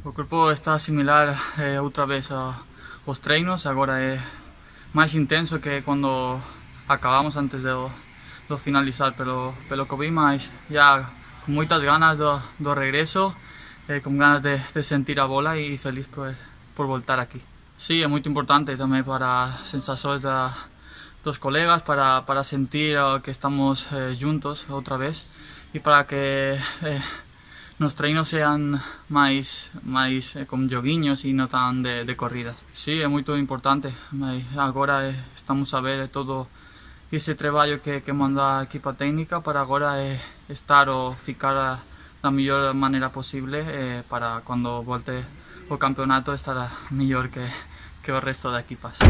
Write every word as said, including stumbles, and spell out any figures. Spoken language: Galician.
O corpo está similar eh, outra vez aos treinos, agora é máis intenso que quando acabamos antes de, de finalizar pelo, pelo Covid, mas já con moitas ganas do, do regreso, eh, con ganas de, de sentir a bola e feliz por, por voltar aquí. Sí, é moito importante tamén para as sensacións da, dos colegas, para, para sentir que estamos eh, juntos outra vez e para que eh, nos treinos sean máis, máis eh, con joguiños e non tan de, de corridas. Sí, é moito importante, agora eh, estamos a ver todo ese traballo que, que manda a equipa técnica para agora eh, estar ou ficar da mellor maneira posible eh, para cando volte o campeonato estar mellor que, que o resto de equipas.